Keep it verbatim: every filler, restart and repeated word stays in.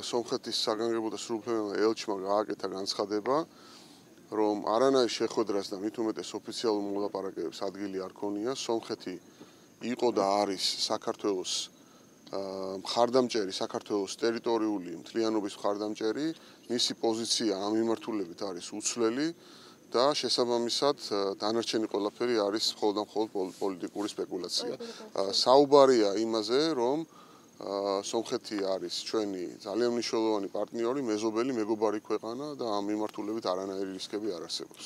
სომხეთის საგანგებო და სრულუფლებო ელჩმა გააკეთა განცხადება, რომ არანაირ შეხვედრას და მით უმეტეს ოფიციალურ მოლაპარაკებებს ადგილი არ ქონია. სომხეთი იყო და არის საქართველოს მხარდამჭერი, საქართველოს ტერიტორიული მთლიანობის მხარდამჭერი, მისი პოზიცია ამ მიმართულებით არის უცვლელი და შესაბამისად დანარჩენი ყველაფერი არის მხოლოდ და მხოლოდ პოლიტიკური სპეკულაცია. საუბარია იმაზე, რომ სომხეთი არის ჩვენი ძალიან მნიშვნელოვანი პარტნიორი, მეზობელი, მეგობარი ქვეყანა და ამ მიმართულებით არანაირი რისკები არ არსებობს.